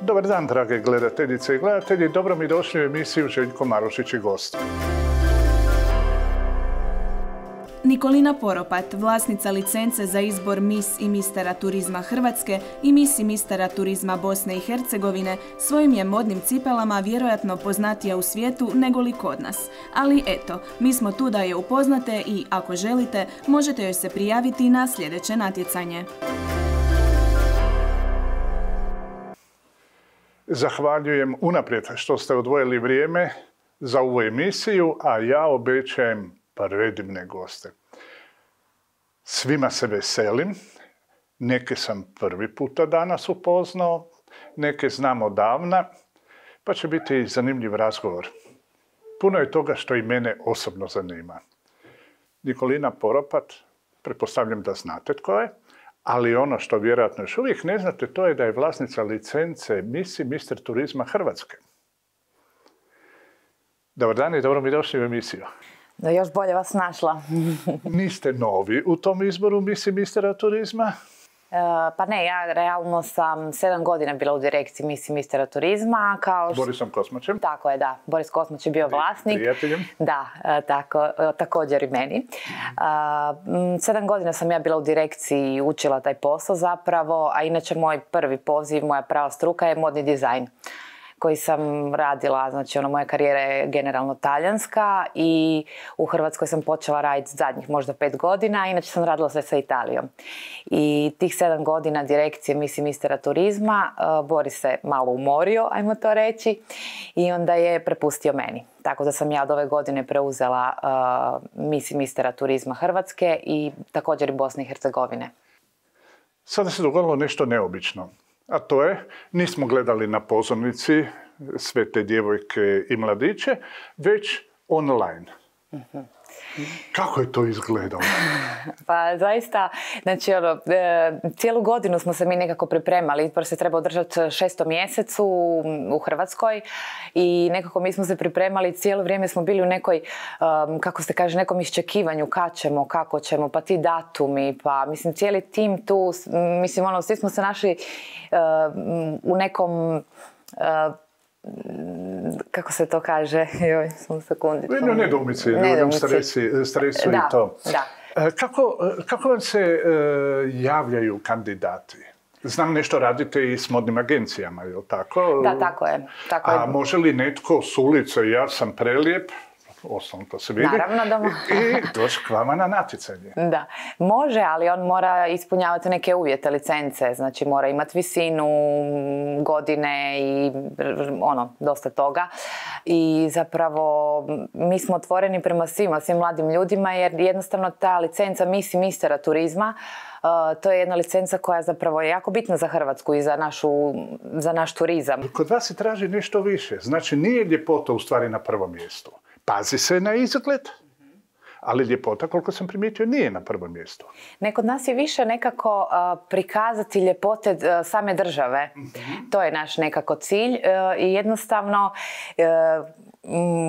Dobar dan, drage gledateljice i gledatelji. Dobro mi došli u emisiju Željko Marušić i gost. Nikolina Poropat, vlasnica licence za izbor Miss i mistera turizma Hrvatske i Miss i mistera turizma Bosne i Hercegovine, svojim je modnim cipelama vjerojatno poznatija u svijetu nego li kod nas. Ali eto, mi smo tu da je upoznate i, ako želite, možete joj se prijaviti na sljedeće natjecanje. Zahvaljujem unaprijed što ste odvojili vrijeme za ovu emisiju, a ja obećajem predivne goste. Svima se veselim, neke sam prvi puta danas upoznao, neke znam odavna, pa će biti zanimljiv razgovor. Puno je toga što i mene osobno zanima. Nikolina Poropat, pretpostavljam da znate tko je, ali ono što vjerojatno još uvijek ne znate, to je da je vlasnica licence Miss i mister turizma Hrvatske. Dobar dan i dobro mi došli u emisiju. Da još bolje vas našla. Niste novi u tom izboru Miss i mistera turizma? Pa ne, ja realno sam 7 godina bila u direkciji Miss i mistera turizma. S Borisom Kosmačem? Tako je, da. Boris Kosmač je bio vlasnik. Prijateljem? Da, također i meni. 7 godina sam ja bila u direkciji i učila taj posao zapravo, a inače moj prvi poziv, moja prava struka je modni dizajn koji sam radila, znači moja karijera je generalno talijanska i u Hrvatskoj sam počela raditi zadnjih možda 5 godina, a inače sam radila sve sa Italijom. I tih 7 godina direkcije Miss i mistera turizma Boris se malo umorio, ajmo to reći, i onda je prepustio meni. Tako da sam ja od ove godine preuzela Miss i mistera turizma Hrvatske i također i Bosne i Hercegovine. Sada se dogodilo nešto neobično. A to je, nismo gledali na pozornici sve te djevojke i mladiće, već online. Kako je to izgledalo? Pa zaista, znači cijelu godinu smo se mi nekako pripremali. Izbor se treba održati 6. mjesecu u Hrvatskoj i nekako mi smo se pripremali, cijelo vrijeme smo bili u nekoj, kako se kaže, nekom iščekivanju kad ćemo, kako ćemo, pa ti datumi, pa mislim cijeli tim tu, mislim svi smo se našli u nekom kako se to kaže, joj, samo sekundicu. Nedoumici, stresu i to. Da. Kako vam se javljaju kandidati? Znam, nešto radite i s modnim agencijama, je li tako? Da, tako je. A može li netko s ulice, ja sam prelijep, osnovno to se vidi, i doći k vama na natjecanje? Da, može, ali on mora ispunjavati neke uvjete licence, znači mora imati visinu, godine i dosta toga. I zapravo mi smo otvoreni prema svim mladim ljudima jer jednostavno ta licenca Miss i mistera turizma, to je jedna licenca koja zapravo je jako bitna za Hrvatsku i za naš turizam. Kod vas se traži nešto više, znači nije ljepota u stvari na prvom mjestu. Pazi se na izgled, ali ljepota, koliko sam primijetio, nije na prvom mjestu. Kod nas je više nekako prikazati ljepote same države. To je naš nekako cilj i jednostavno,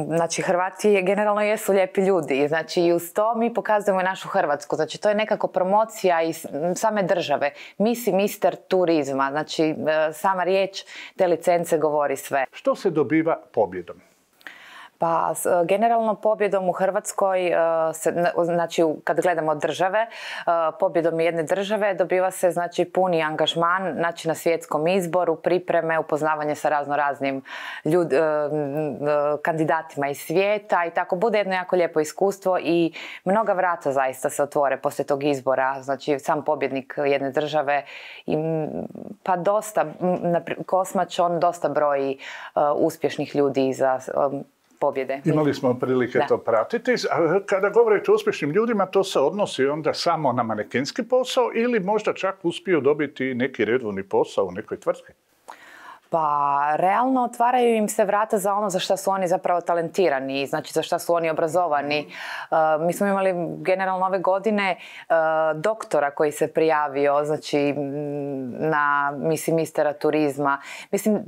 znači Hrvati generalno jesu lijepi ljudi. Znači i uz to mi pokazujemo našu Hrvatsku. Znači to je nekako promocija iz same države. Miss i mister turizma. Znači sama riječ te licence govori sve. Što se dobiva pobjedom? Pa generalno pobjedom u Hrvatskoj, znači kad gledamo države, pobjedom jedne države dobiva se znači puni angažman, znači na svjetskom izboru, pripreme, upoznavanje sa raznoraznim kandidatima iz svijeta i tako bude jedno jako lijepo iskustvo i mnoga vrata zaista se otvore poslije tog izbora, znači sam pobjednik jedne države pa dosta, Kosmač on dosta broji uspješnih ljudi za pobjede. Imali smo prilike to pratiti. A kada govorite o uspješnim ljudima, to se odnosi onda samo na manekenski posao ili možda čak uspiju dobiti neki redovni posao u nekoj tvrtki? Pa realno otvaraju im se vrata za ono za što su oni zapravo talentirani, znači za što su oni obrazovani. Mi smo imali generalno ove godine doktora koji se prijavio znači na Miss i mistera turizma. Mislim,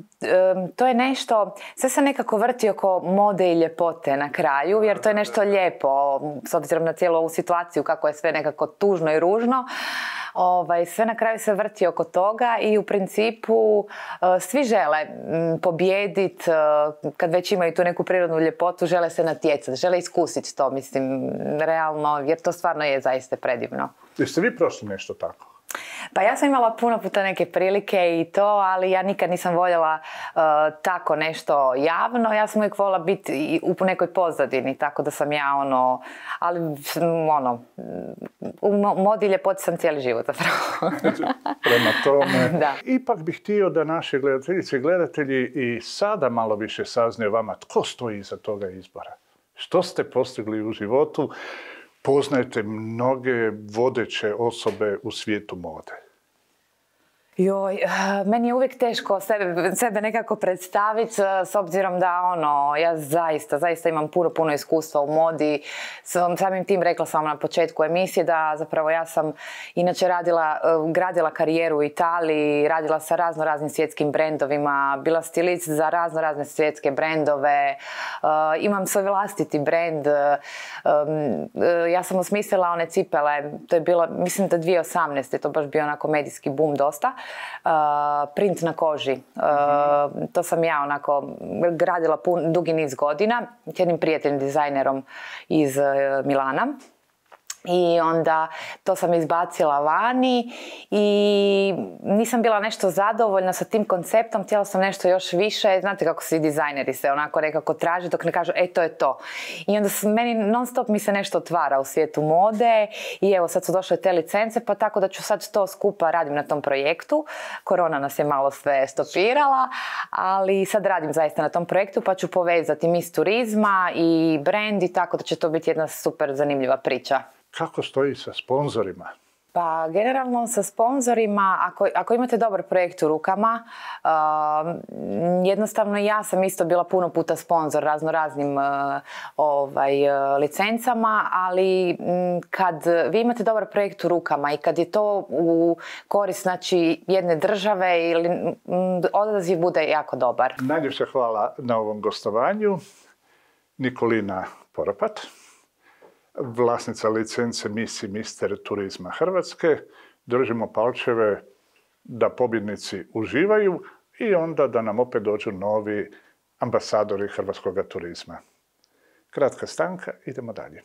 to je nešto, sve se nekako vrti oko mode i ljepote na kraju, jer to je nešto lijepo, s obzirom na cijelu ovu situaciju kako je sve nekako tužno i ružno. Sve na kraju se vrti oko toga i u principu svi žele pobijediti, kad već imaju tu neku prirodnu ljepotu, žele se natjecati, žele iskusiti to, mislim, realno, jer to stvarno je zaista predivno. Jeste vi prošli nešto tako? Pa ja sam imala puno puta neke prilike i to, ali ja nikad nisam voljela tako nešto javno. Ja sam uvijek voljela biti u nekoj pozadini, tako da sam ja ali u modi i ljepoti sam cijeli život zapravo. Prema tome, da. Ipak bih htio da naši gledateljice i gledatelji i sada malo više saznaju vama tko stoji iza toga izbora. Što ste postigli u životu? Poznajete mnoge vodeće osobe u svijetu mode. Joj, meni je uvijek teško sebe nekako predstaviti s obzirom da ja zaista imam puno iskustva u modi. Samim tim rekla sam na početku emisije da zapravo ja sam inače gradila karijeru u Italiji, radila sa raznim svjetskim brendovima, bila stilist za razne svjetske brendove, imam svoj vlastiti brend. Ja sam osmislila one cipele, to je bilo, mislim da 2018. to baš bio onako medijski boom dosta. Print na koži. To sam ja onako gradila dugi niz godina s jednim prijateljnim dizajnerom iz Milana. I onda to sam izbacila vani i nisam bila nešto zadovoljna sa tim konceptom, htjela sam nešto još više. Znate kako svi dizajneri se onako nekako traže dok ne kažu to je to. I onda meni non stop mi se nešto otvara u svijetu mode i evo sad su došle te licence, pa tako da ću sad to skupa radim na tom projektu. Korona nas je malo sve stopirala, ali sad radim zaista na tom projektu pa ću povezati Miss turizma i brand i tako da će to biti jedna super zanimljiva priča. Kako stoji sa sponzorima? Pa generalno sa sponzorima, ako imate dobar projekt u rukama, jednostavno ja sam isto bila puno puta sponzor raznim licencama, ali kad vi imate dobar projekt u rukama i kad je to u korist jedne države, odaziv bude jako dobar. Najljepša hvala na ovom gostovanju. Nikolina Poropat, vlasnica licence Miss i Mister turizma Hrvatske. Držimo palčeve da pobjednici uživaju i onda da nam opet dođu novi ambasadori hrvatskog turizma. Kratka stanka, idemo dalje.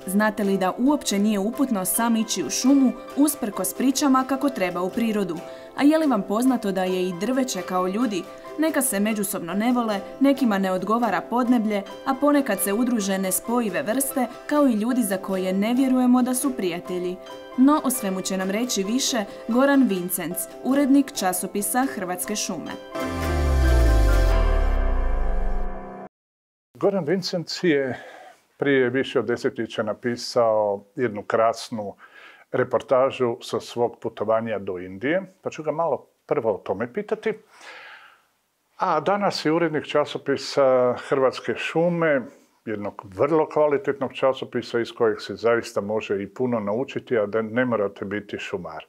Znate li da uopće nije uputno sam ići u šumu usprkos pričama kako treba u prirodu? A je li vam poznato da je i drveće kao ljudi? Neka se međusobno ne vole, nekima ne odgovara podneblje, a ponekad se udruže nespojive vrste kao i ljudi za koje ne vjerujemo da su prijatelji. No o svemu će nam reći više Goran Vincenc, urednik časopisa Hrvatske šume. Goran Vincenc je prije više od desetljeća napisao jednu krasnu reportažu sa svog putovanja do Indije, pa ću ga malo prvo o tome pitati. A danas je urednik časopisa Hrvatske šume, jednog vrlo kvalitetnog časopisa iz kojeg se zaista može i puno naučiti, a da ne morate biti šumar.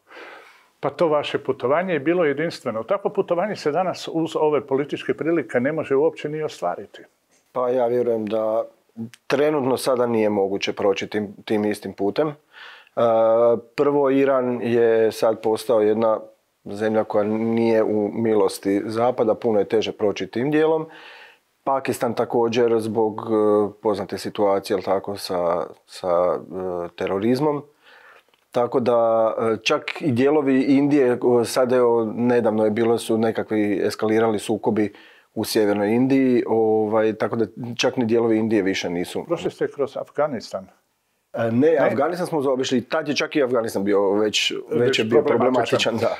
Pa to vaše putovanje je bilo jedinstveno. Takvo putovanje se danas uz ove političke prilike ne može uopće ni ostvariti. Pa ja vjerujem da trenutno sada nije moguće proći tim istim putem. Prvo, Iran je sad postao jedna zemlja koja nije u milosti Zapada, puno je teže proći tim dijelom. Pakistan također zbog poznate situacije, ali tako, sa terorizmom. Tako da čak i dijelovi Indije, sad nedavno je bilo su nekakvi eskalirali sukobi u sjevernoj Indiji, tako da čak ni dijelovi Indije više nisu. Prošli ste kroz Afganistan? Ne, Afganistan smo zaobišli. Tad je čak i Afganistan bio već je bio problematičan. Da.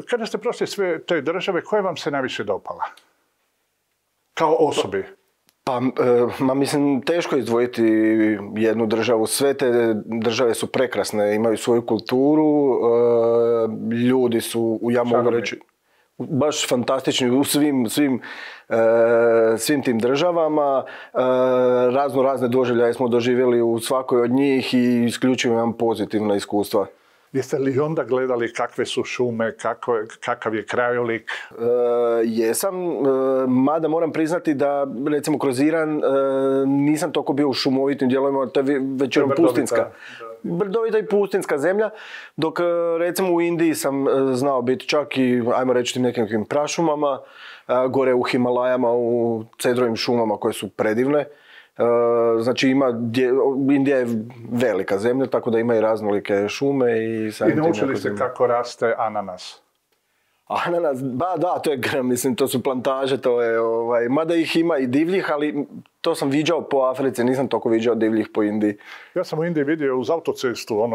Kada ste prošli sve te države, koja vam se najviše dopala? Kao osobi? Pa, mislim, teško izdvojiti jednu državu. Sve te države su prekrasne, imaju svoju kulturu, ljudi su, ja mogu reći, baš fantastični u svim tim državama. Razne doživljaje smo doživjeli u svakoj od njih i isključivo imam pozitivna iskustva. Jeste li onda gledali kakve su šume, kakav je krajolik? Jesam, mada moram priznati da recimo kroz Iran nisam toliko bio u šumovitim dijelovima, to je većinom pustinska. Brdovita i pustinska zemlja, dok recimo u Indiji sam znao biti čak i, ajmo reći, nekim prašumama, gore u Himalajama, u cedrovim šumama koje su predivne. Znači Indija je velika zemlja, tako da ima i raznolike šume. I naučili ste kako raste ananas? Ananas, da, to je, mislim, to su plantaže, to je, mada ih ima i divljih, ali to sam viđao po Africi, nisam toliko viđao divljih po Indiji. Ja sam u Indiji vidio uz autocestu,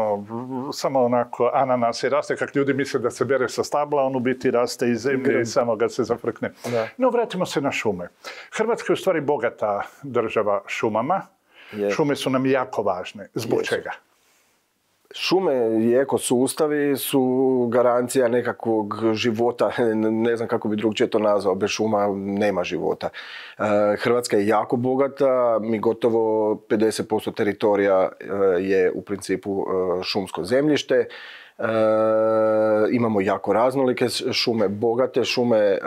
samo onako ananas i raste, kak ljudi misle da se bere sa stabla, on u biti raste iz zemlje i samo ga se zafrkne. Da. No, vratimo se na šume. Hrvatska je u stvari bogata država šumama. Šume su nam jako važne. Zbog čega? Šume i ekosustavi su garancija nekakvog života, ne znam kako bi drugčije to nazvao, bez šuma nema života. Hrvatska je jako bogata, mi gotovo 50% teritorija je u principu šumsko zemljište. Imamo jako raznolike šume, bogate šume,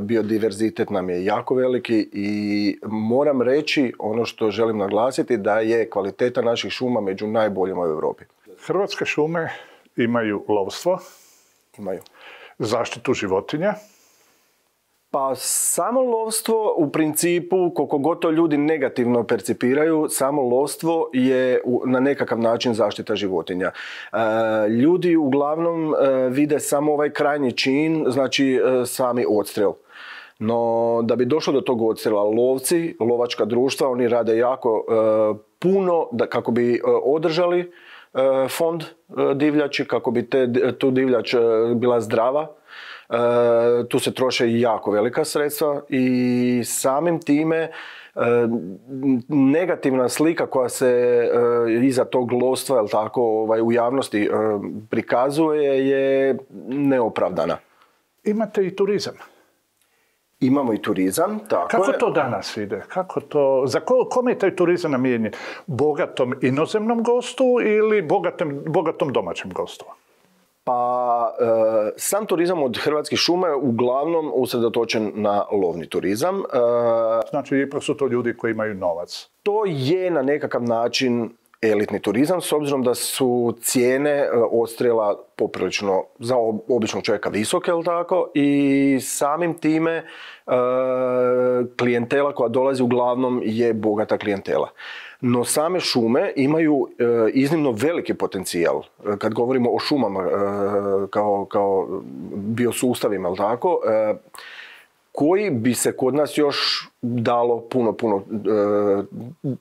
biodiverzitet nam je jako veliki i moram reći, ono što želim naglasiti, da je kvaliteta naših šuma među najboljima u Europi. Hrvatske šume imaju lovstvo, imaju zaštitu životinja. Pa samo lovstvo u principu, koliko god to ljudi negativno percipiraju, samo lovstvo je na nekakav način zaštita životinja. Ljudi uglavnom vide samo ovaj krajnji čin, znači sami odstrel. No, da bi došlo do tog odstrela, lovci, lovačka društva, oni rade jako puno kako bi održali fond divljači, kako bi tu divljač bila zdrava. Tu se troše jako velika sredstva i samim time negativna slika koja se iza tog lovstva, jel tako, u javnosti prikazuje je neopravdana. Imate i turizam. Imamo i turizam, tako Kako je. to danas ide? Za kome je taj turizam namijenjen? Bogatom inozemnom gostu ili bogatom domaćem gostu? Pa, sam turizam od Hrvatskih šuma je uglavnom usredotočen na lovni turizam. Znači, ipak su to ljudi koji imaju novac. To je na nekakav način elitni turizam, s obzirom da su cijene odstrela poprilično za običnog čovjeka visoke, jel tako? I samim time klijentela koja dolazi uglavnom je bogata klijentela. No same šume imaju iznimno veliki potencijal. Kad govorimo o šumama kao biosustavima, jel tako? Koji bi se kod nas još dalo puno,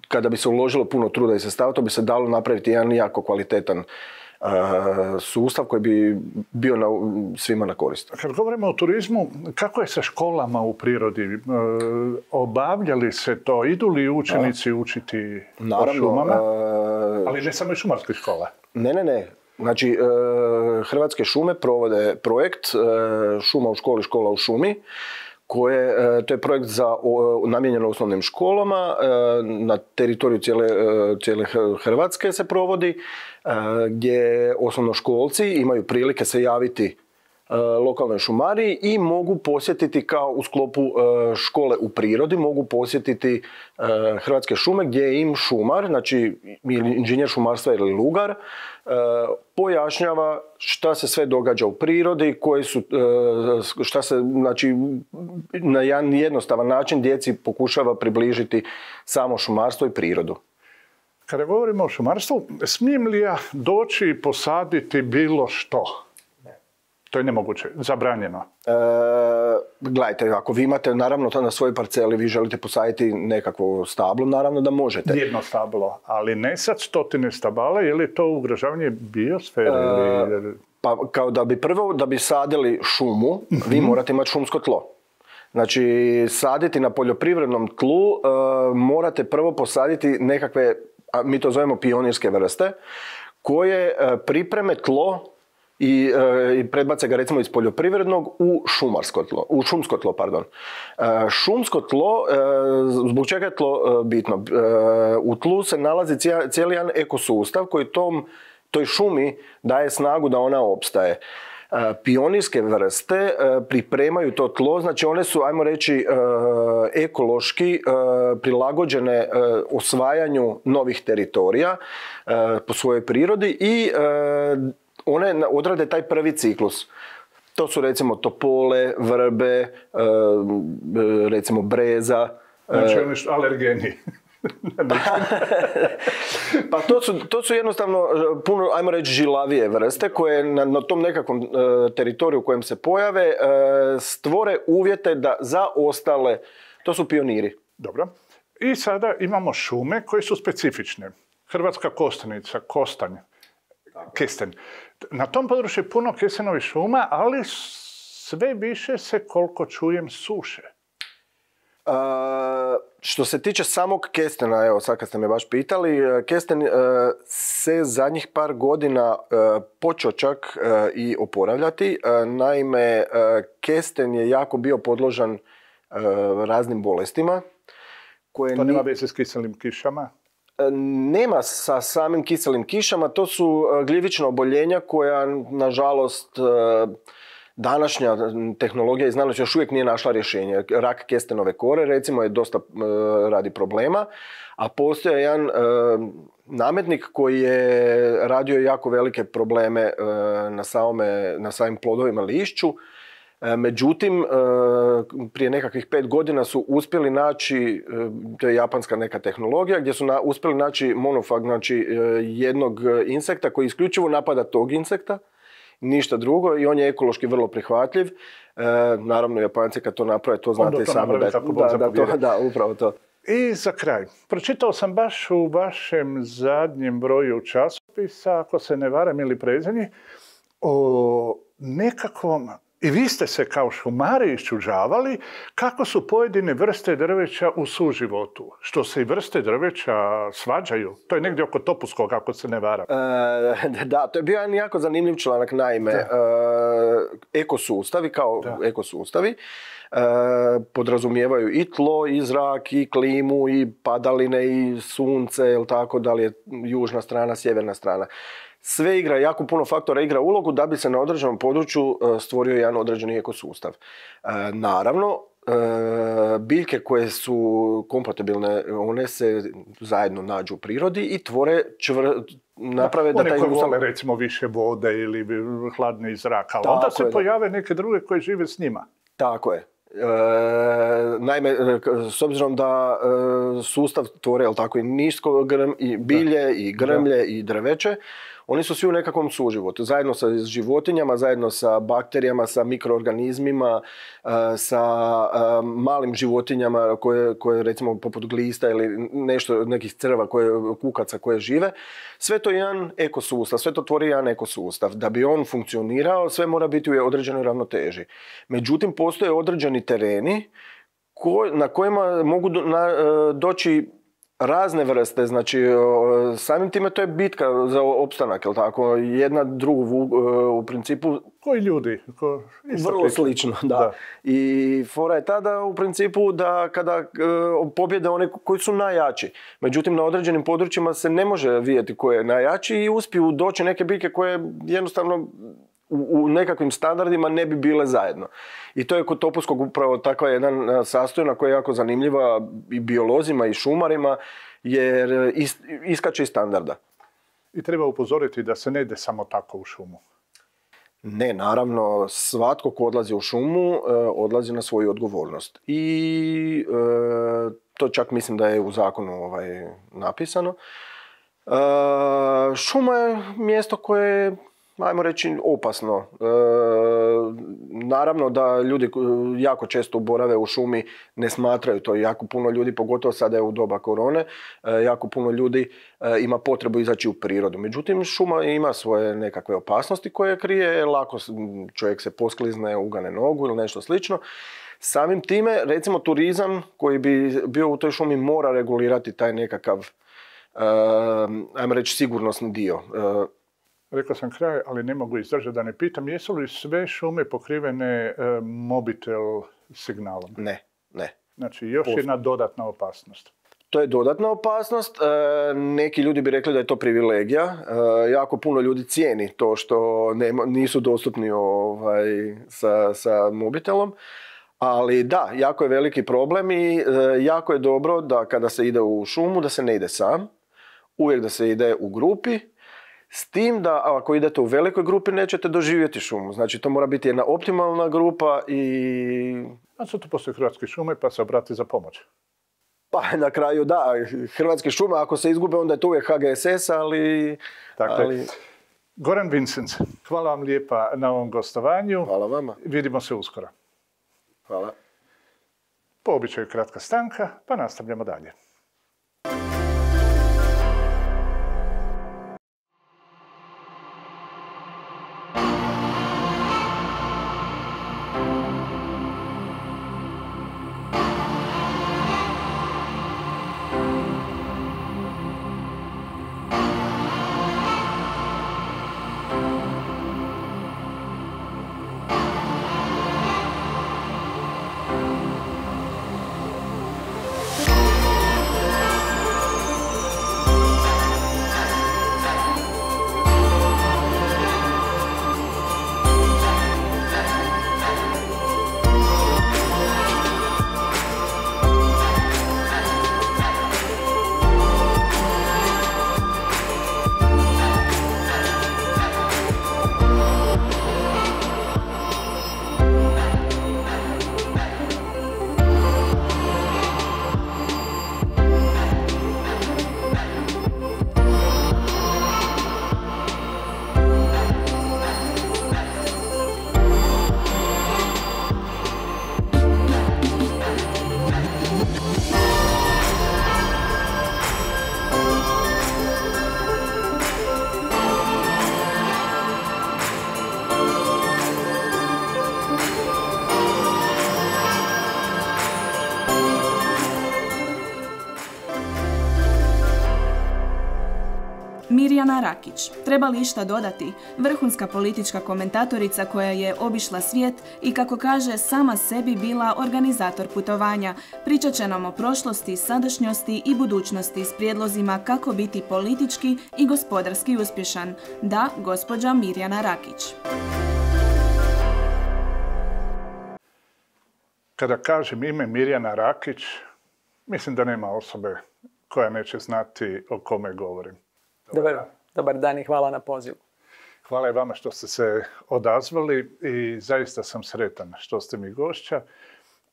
kada bi se uložilo puno truda i sredstava, to bi se dalo napraviti jedan jako kvalitetan sustav koji bi bio svima na korist. Kad govorimo o turizmu, kako je sa školama u prirodi? Obavljali se to? Idu li učenici učiti o šumama? Ali ne samo i šumarskih škola. Ne. Znači, Hrvatske šume provode projekt Šuma u školi, škola u šumi. To je projekt namijenjen osnovnim školama, na teritoriju cijele Hrvatske se provodi, gdje osnovnoškolci imaju prilike se javiti lokalnoj šumariji i mogu posjetiti kao u sklopu škole u prirodi, mogu posjetiti Hrvatske šume gdje im šumar, znači inženjer šumarstva ili lugar, pojašnjava šta se sve događa u prirodi, šta se, znači, na jedan jednostavan način djeci pokušava približiti samo šumarstvo i prirodu. Kada govorimo o šumarstvu, smijem li ja doći i posaditi bilo što? To je nemoguće, zabranjeno. Gledajte, ako vi imate naravno to na svojoj parceli, vi želite posaditi nekakvo stablo, naravno da možete. Jedno stablo, ali ne sad 100 stabala, je li to ugrožavanje biosfere? Pa kao da bi sadili šumu, vi morate imati šumsko tlo. Znači, saditi na poljoprivrednom tlu morate prvo posaditi nekakve, mi to zovemo pionirske vrste, koje pripreme tlo i predbace ga recimo iz poljoprivrednog u šumsko tlo. Šumsko tlo, zbog čega je tlo bitno? U tlu se nalazi cijeli jedan ekosustav koji toj šumi daje snagu da ona opstaje. Pionirske vrste pripremaju to tlo, znači one su, ajmo reći, ekološki prilagođene osvajanju novih teritorija po svojoj prirodi i one odrade taj prvi ciklus. To su recimo topole, vrbe, recimo breza. Znači oni su alergeni. Pa to su jednostavno puno, ajmo reći, žilavije vrste koje na tom nekakvom teritoriju u kojem se pojave stvore uvjete da za ostale, to su pioniri. Dobro. I sada imamo šume koje su specifične. Hrvatska kostanica, kostanj, kesten. Na tom području je puno kestenovih šuma, ali sve više se, koliko čujem, suše. Što se tiče samog kestena, evo sad kad ste me baš pitali, kesten se zadnjih par godina počeo čak i oporavljati. Naime, kesten je jako bio podložan raznim bolestima. To nema veze s kiselim kišama? Nema sa samim kiselim kišama, to su gljivična oboljenja koja, nažalost, današnja tehnologija i znanost još uvijek nije našla rješenje. Rak kestenove kore, recimo, je dosta radi problema, a postoji jedan nametnik koji je radio jako velike probleme na samim plodovima lišću. Međutim, prije nekakvih 5 godina su uspjeli naći, to je japanska neka tehnologija, gdje su uspjeli naći monofag, znači jednog insekta koji isključivo napada tog insekta, ništa drugo, i on je ekološki vrlo prihvatljiv. Naravno, Japanci kad to naprave, to znate i sami da, upravo to. I za kraj, pročitao sam baš u vašem zadnjem broju časopisa, ako se ne varam ili prezeni, o nekakvom, i vi ste se kao šumari iščuđavali, kako su pojedine vrste drveća u suživotu. Što se i vrste drveća svađaju. To je negdje oko Topuskog, ako se ne varam. Da, to je bio jedan jako zanimljiv članak. Naime, ekosustavi kao ekosustavi podrazumijevaju i tlo, i zrak, i klimu, i padaline, i sunce, jel tako, da li je južna strana, sjeverna strana. Sve igra, jako puno faktora igra ulogu da bi se na određenom području stvorio jedan određeni ekosustav. Naravno, biljke koje su kompatibilne, one se zajedno nađu u prirodi i tvore naprave da taj... One koje vole recimo više vode ili hladni zrak, ali onda se pojave neke druge koje žive s njima. Tako je. Naime, s obzirom da sustav tvore, jel tako, i nisko i bilje, i grmlje, i drveće, oni su svi u nekakvom suživotu, zajedno sa životinjama, zajedno sa bakterijama, sa mikroorganizmima, sa malim životinjama koje recimo poput glista ili nekih crva, kukaca koje žive. Sve to je jedan ekosustav, sve to tvori jedan ekosustav. Da bi on funkcionirao, sve mora biti u određenoj ravnoteži. Međutim, postoje određeni tereni na kojima mogu doći razne vrste, znači samim time to je bitka za opstanak, jel tako? Jedna drugu u principu... Koji ljudi? Vrlo slično, da. I fora je tada u principu da kada pobjede one koji su najjači. Međutim, na određenim područjima se ne može vidjeti ko je najjači i uspiju doći neke biljke koje jednostavno u nekakvim standardima ne bi bile zajedno. I to je kod Topuskog upravo takva jedan sastojna koja je jako zanimljiva i biolozima i šumarima, jer iskače iz standarda. I treba upozoriti da se ne ide samo tako u šumu. Ne, naravno, svatko ko odlazi u šumu, odlazi na svoju odgovornost. I to čak mislim da je u zakonu napisano. Šuma je mjesto koje ajmo reći, opasno. Naravno da ljudi jako često borave u šumi, ne smatraju to. Jako puno ljudi, pogotovo sada je u doba korone, jako puno ljudi ima potrebu izaći u prirodu. Međutim, šuma ima svoje nekakve opasnosti koje krije, lako čovjek se posklizne, ugane nogu ili nešto slično. Samim time, recimo, turizam koji bi bio u toj šumi mora regulirati taj nekakav, ajmo reći, sigurnosni dio. Rekao sam kraj, ali ne mogu izdržati da ne pitam, jesu li sve šume pokrivene mobitel signalom? Ne. Znači, još jedna dodatna opasnost. To je dodatna opasnost. Neki ljudi bi rekli da je to privilegija. Jako puno ljudi cijeni to što nisu dostupni sa mobitelom. Ali da, jako je veliki problem i jako je dobro da kada se ide u šumu da se ne ide sam. Uvijek da se ide u grupi. S tim da ako idete u velikoj grupi nećete doživjeti šumu. Znači to mora biti jedna optimalna grupa i... A sad tu postoje Hrvatske šume pa se obrati za pomoć. Pa na kraju da, Hrvatske šume ako se izgube onda je to uvijek HGSS, ali... Dakle, Goran Vincenc, hvala vam lijepa na ovom gostovanju. Hvala vama. Vidimo se uskoro. Hvala. Po običaju kratka stanka, pa nastavljamo dalje. Mirjana Rakić. Treba li išta dodati? Vrhunska politička komentatorica koja je obišla svijet i, kako kaže, sama sebi bila organizator putovanja. Pričat će nam o prošlosti, sadašnjosti i budućnosti s prijedlozima kako biti politički i gospodarski uspješan. Da, gospođa Mirjana Rakić. Kada kažem ime Mirjana Rakić, mislim da nema osobe koja neće znati o kome govorim. Dobar dan i hvala na pozivu. Hvala i vama što ste se odazvali i zaista sam sretan što ste mi gošća.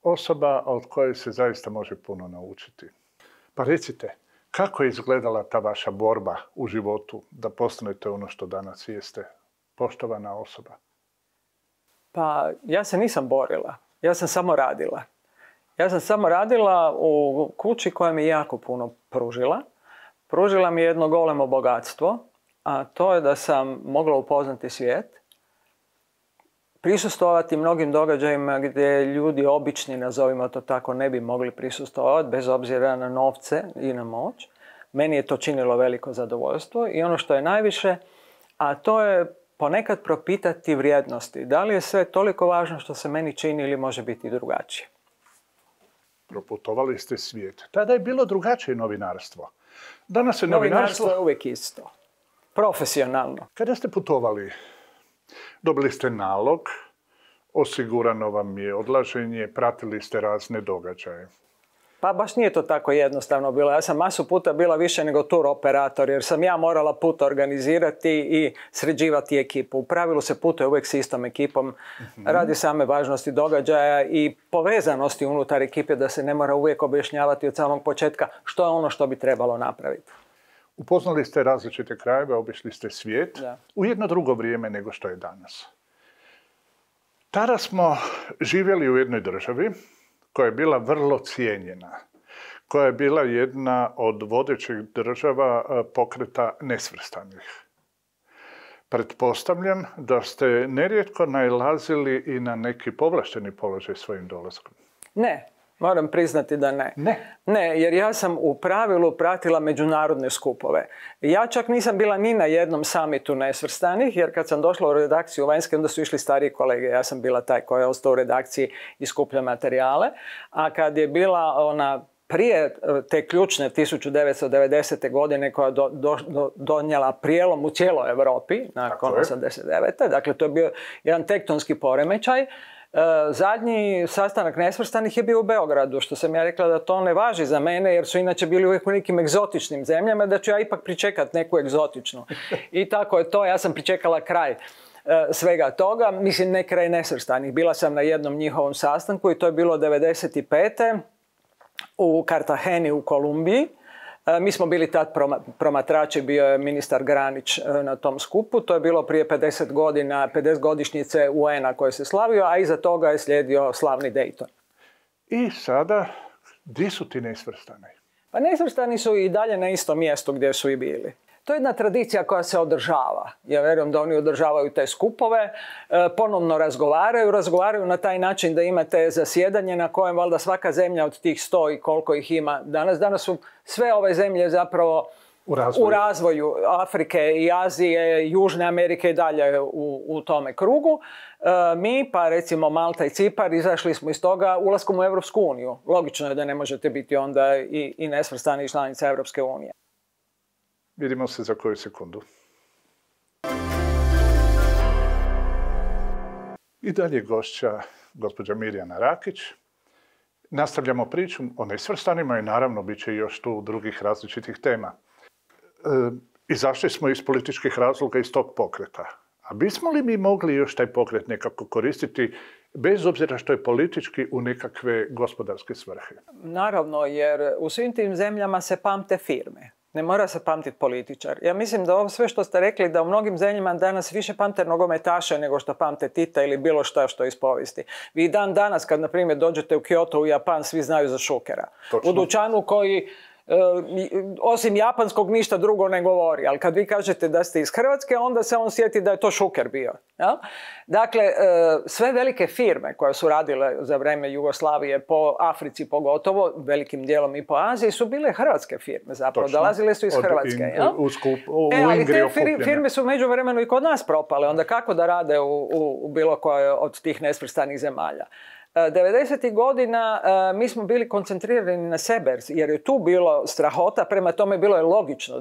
Osoba od koje se zaista može puno naučiti. Pa recite, kako je izgledala ta vaša borba u životu da postanete ono što danas jeste? Poštovana osoba. Pa ja se nisam borila. Ja sam samo radila. Ja sam samo radila u kući koja mi je jako puno pružila. Pružila mi je jedno golemo bogatstvo, a to je da sam mogla upoznati svijet, prisustvovati mnogim događajima gdje ljudi obični, nazovimo to tako, ne bi mogli prisustvovati bez obzira na novce i na moć. Meni je to činilo veliko zadovoljstvo i ono što je najviše, a to je ponekad propitati vrijednosti. Da li je sve toliko važno što se meni čini ili može biti drugačije? Proputovali ste svijet. Tada je bilo drugačije novinarstvo. Danas je novinarstvo je uvijek isto. Profesionalno. Kada ste putovali, dobili ste nalog, osigurano vam je odlaženje, pratili ste razne događaje. Pa baš nije to tako jednostavno bilo. Ja sam masu puta bila više nego tur operator, jer sam ja morala put organizirati i sređivati ekipu. U pravilu se putuje uvijek s istom ekipom, radi same važnosti događaja i povezanosti unutar ekipe, da se ne mora uvijek objašnjavati od samog početka što je ono što bi trebalo napraviti. Upoznali ste različite krajeve, obišli ste svijet Da. u jedno drugo vrijeme nego što je danas. Tada smo živjeli u jednoj državi koja je bila vrlo cijenjena, koja je bila jedna od vodećih država pokreta nesvrstanih. Pretpostavljam da ste nerijetko nailazili i na neki povlašteni položaj svojim dolaskom. Ne, moram priznati da ne. Ne, jer ja sam u pravilu pratila međunarodne skupove. Ja čak nisam bila ni na jednom samitu nesvrstanih, jer kad sam došla u redakciju vanjske, onda su išli stariji kolege. Ja sam bila taj koja je ostao u redakciji i skuplja materijale. A kad je bila ona prije te ključne 1990. godine koja je donijela prijelom u cijeloj Europi, nakon 1989. Dakle, to je bio jedan tektonski poremećaj. Zadnji sastanak nesvrstanih je bio u Beogradu, što sam ja rekla da to ne važi za mene, jer su inače bili uvijek u nekim egzotičnim zemljama, da ću ja ipak pričekati neku egzotičnu. I tako je to, ja sam pričekala kraj svega toga, mislim ne kraj nesvrstanih. Bila sam na jednom njihovom sastanku i to je bilo 1995. u Kartaheni u Kolumbiji. Mi smo bili tad promatrači, bio je ministar Granić na tom skupu. To je bilo prije 50 godina, 50-godišnjice UN-a koje se slavio, a iza toga je slijedio slavni Dayton. I sada, gdje su ti nesvrstani? Pa nesvrstani su i dalje na istom mjestu gdje su i bili. To je jedna tradicija koja se održava. Ja vjerujem da oni održavaju te skupove, ponovno razgovaraju na taj način da imate zasjedanje na kojem valjda svaka zemlja od tih 100 i koliko ih ima danas. Danas su sve ove zemlje zapravo u razvoju Afrike i Azije, Južne Amerike i dalje u tome krugu. Mi, pa recimo Malta i Cipar, izašli smo iz toga ulaskom u Europsku uniju. Logično je da ne možete biti onda i nesvrstani članica Europske unije. Vidimo se za koju sekundu. I dalje gošća gospođa Mirjana Rakić. Nastavljamo priču o nesvrstanima i naravno bit će još tu drugih različitih tema. Izašli smo iz političkih razloga iz tog pokreta. A bismo li mi mogli još taj pokret nekako koristiti bez obzira što je politički u nekakve gospodarske svrhe? Naravno, jer u svim tim zemljama se pamte firme. Ne mora se pamtiti političar. Ja mislim da ovo sve što ste rekli, da u mnogim zemljama danas više pamte nogometaše nego što pamte Tita ili bilo što iz povijesti. Vi dan danas kad, na primjer, dođete u Kyoto u Japan, svi znaju za Šukera. Točno. U dućanu koji osim japanskog ništa drugo ne govori, ali kad vi kažete da ste iz Hrvatske, onda se on sjeti da je to Šuker bio. Ja? Dakle, sve velike firme koje su radile za vrijeme Jugoslavije po Africi pogotovo, velikim dijelom i po Aziji, su bile hrvatske firme zapravo, dolazile su iz Hrvatske. Ali te firme su u međuvremenu i kod nas propale, onda kako da rade u bilo kojoj od tih nesvrstanih zemalja? 90. godina mi smo bili koncentrirani na sebe, jer je tu bilo strahota, prema tome bilo je logično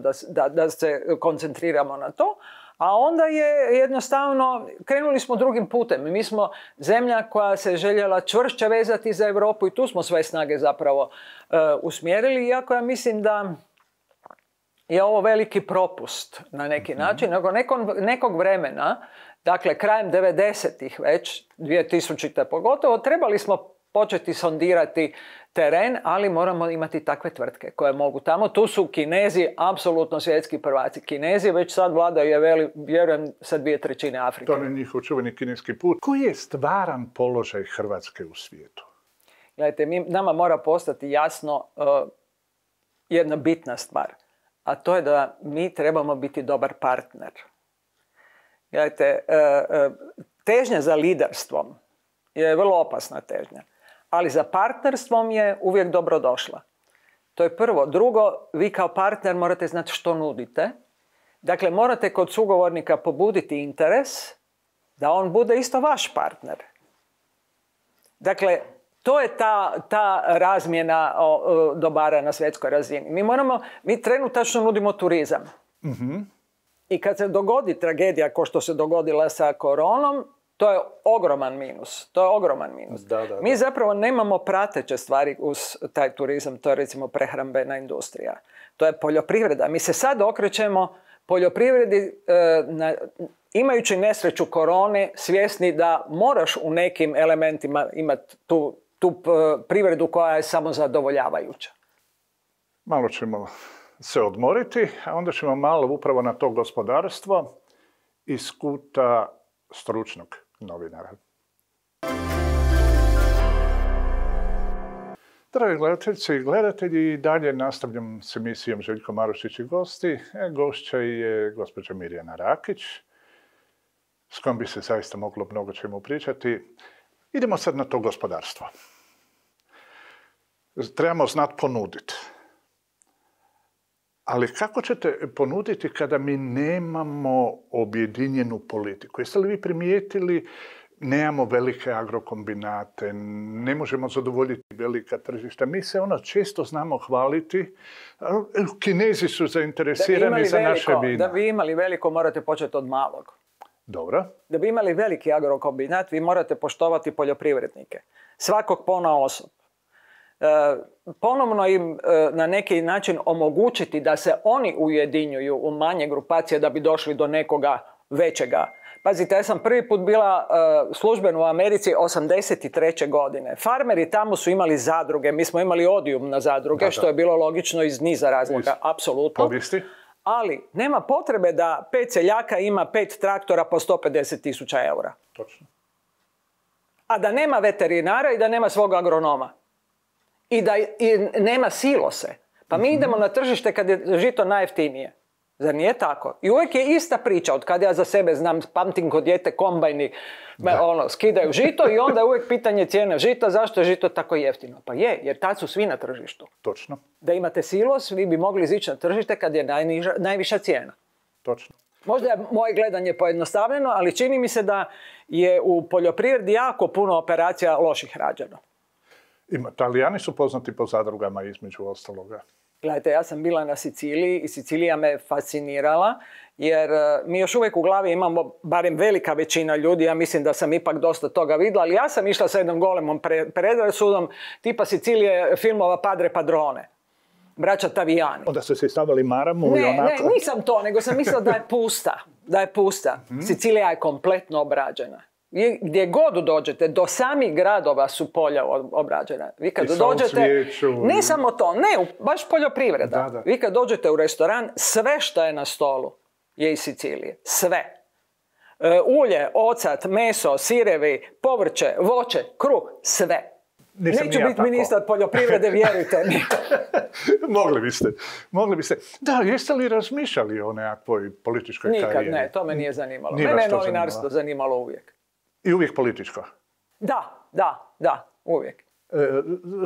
da se koncentriramo na to, a onda je jednostavno, krenuli smo drugim putem. Mi smo zemlja koja se željela čvršće vezati za Europu i tu smo sve snage zapravo usmjerili, iako ja mislim da je ovo veliki propust na neki način, nego nekog vremena, dakle, krajem 90-ih već, 2000-te pogotovo, trebali smo početi sondirati teren, ali moramo imati takve tvrtke koje mogu tamo. Tu su Kinezi, apsolutno svjetski prvaci. Kinezi već sad vladaju, vjerujem, sa 2/3 Afrike. To je njihov čuveni kineski put. Koji je stvaran položaj Hrvatske u svijetu? Gledajte, nama mora postati jasno jedna bitna stvar, a to je da mi trebamo biti dobar partner. Gledajte, težnja za liderstvom je vrlo opasna težnja, ali za partnerstvom je uvijek dobro došla. To je prvo. Drugo, vi kao partner morate znati što nudite. Dakle, morate kod sugovornika pobuditi interes da on bude isto vaš partner. Dakle, to je ta razmjena dobara na svjetskoj razini. Mi trenutačno nudimo turizam. I kad se dogodi tragedija kao što se dogodila sa koronom, to je ogroman minus. Mi zapravo nemamo prateće stvari uz taj turizam, to je recimo prehrambena industrija. To je poljoprivreda. Mi se sad okrećemo poljoprivredi imajući nesreću korone, svjesni da moraš u nekim elementima imati tu privredu koja je samozadovoljavajuća. Malo ćemo se odmoriti, a onda ćemo malo upravo na to gospodarstvo iz kuta stručnog novinara. Dragi gledateljice i gledatelji, dalje nastavljam s emisijom Željko Marušić i gosti. Gošća je gospođa Mirjana Rakić, s kojom bi se zaista moglo mnogo čemu pričati. Idemo sad na to gospodarstvo. Trebamo znati ponuditi. Ali kako ćete ponuditi kada mi nemamo objedinjenu politiku? Jeste li vi primijetili, nemamo velike agrokombinate, ne možemo zadovoljiti velika tržišta. Mi se često znamo hvaliti. Kinezi su zainteresirani za naše vina. Da bi imali veliko, morate početi od malog. Dobro. Da bi imali veliki agrokombinat, vi morate poštovati poljoprivrednike. Svakog ponaosob. Ponovno im na neki način omogućiti da se oni ujedinjuju u manje grupacije da bi došli do nekoga većega. Pazite, ja sam prvi put bila službeno u Americi 83. godine. Farmeri tamo su imali zadruge, mi smo imali odijum na zadruge, što je bilo logično iz niza razloga, apsolutno. Povijesti. Ali nema potrebe da 5 seljaka ima 5 traktora po 150.000 eura. Točno. A da nema veterinara i da nema svog agronoma. I da nema silose. Pa mi idemo na tržište kad je žito najjeftinije. Zar nije tako? I uvijek je ista priča, od kada ja za sebe znam, pamtim kod dijete kombajni, skidaju žito i onda je uvijek pitanje cijene žita, zašto je žito tako jeftino? Pa je, jer tad su svi na tržištu. Točno. Da imate silos, vi bi mogli izići na tržište kad je najviša cijena. Točno. Možda je moje gledanje pojednostavljeno, ali čini mi se da je u poljoprivredi jako puno operacija loših rađeno. Italijani su poznati po zadrugama između ostaloga. Gledajte, ja sam bila na Siciliji i Sicilija me fascinirala jer mi još uvijek u glavi imamo, barem velika većina ljudi, ja mislim da sam ipak dosta toga vidjela, ali ja sam išla sa jednom golemom predrasudom tipa Sicilije filmova Padre Padrone, braća Tavijani. Onda ste se stavili maramu i onako? Ne, nisam to, nego sam mislila da je pusta. Sicilija je kompletno obrađena. Gdje god dođete, do samih gradova su polja obrađena. Vi kad dođete, ne samo to, baš poljoprivreda. Da. Vi kad dođete u restoran, sve što je na stolu je iz Sicilije. Sve. Ulje, ocat, meso, sirevi, povrće, voće, kruh, sve. Neću biti ministar poljoprivrede, vjerujte mi. Mogli biste. Da, jeste li razmišljali o nekakvoj političkoj karijeri? Nikad ne, to me nije zanimalo. Mene je novinarstvo zanimalo uvijek. I uvijek političko? Da, uvijek.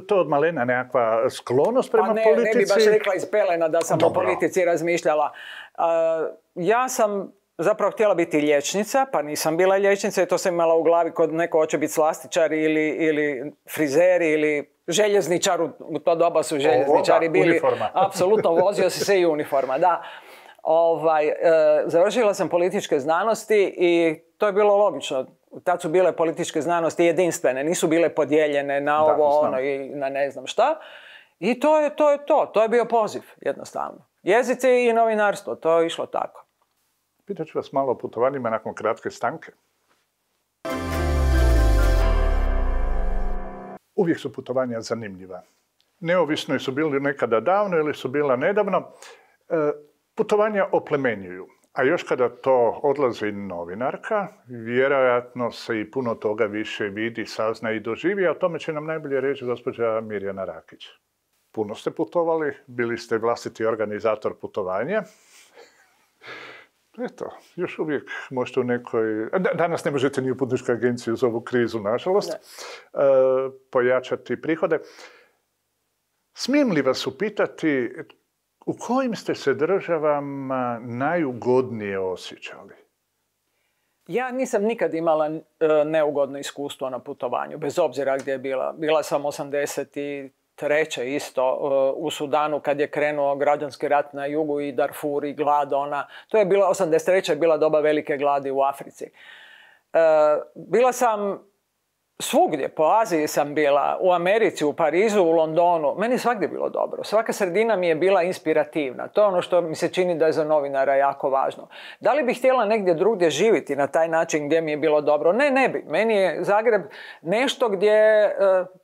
To od malena nekakva sklonost prema politici? Ne bi baš rekla iz pelena da sam o politici razmišljala. Ja sam zapravo htjela biti liječnica, pa nisam bila liječnica i to sam imala u glavi kod neko hoće biti slastičar ili frizer ili željezničar. U to doba su željezničari bili. Uniforma. Apsolutno, vozio si se i uniforma, da. Završila sam političke znanosti i to je bilo logično. Tad su bile političke znanosti jedinstvene, nisu bile podijeljene na i na ne znam šta. I to je to. To je bio poziv, jednostavno. Jezici i novinarstvo, to je išlo tako. Pitat ću vas malo o putovanjima nakon kratke stanke. Uvijek su putovanja zanimljiva. Neovisno su bili nekada davno ili su bila nedavno. Putovanja oplemenjuju. A još kada to odlazi novinarka, vjerojatno se i puno toga više vidi, sazna i doživi, a o tome će nam najbolje reći gospođa Mirjana Rakić. Puno ste putovali, bili ste vlastiti organizator putovanja. Eto, još uvijek možete u nekoj... Danas ne možete ni u putničkoj agenciji uz ovu krizu, nažalost, pojačati prihode. Smijem li vas upitati u kojim ste se državama najugodnije osjećali? Ja nisam nikad imala neugodno iskustvo na putovanju, bez obzira gdje je bila. Bila sam 83. isto u Sudanu kad je krenuo građanski rat na jugu i Darfur i glad. To je bila 83. je bila doba velike gladi u Africi. Bila sam svugdje, po Aziji sam bila, u Americi, u Parizu, u Londonu. Meni je svagdje bilo dobro. Svaka sredina mi je bila inspirativna. To je ono što mi se čini da je za novinara jako važno. Da li bih htjela negdje drugdje živjeti na taj način gdje mi je bilo dobro? Ne bi. Meni je Zagreb nešto gdje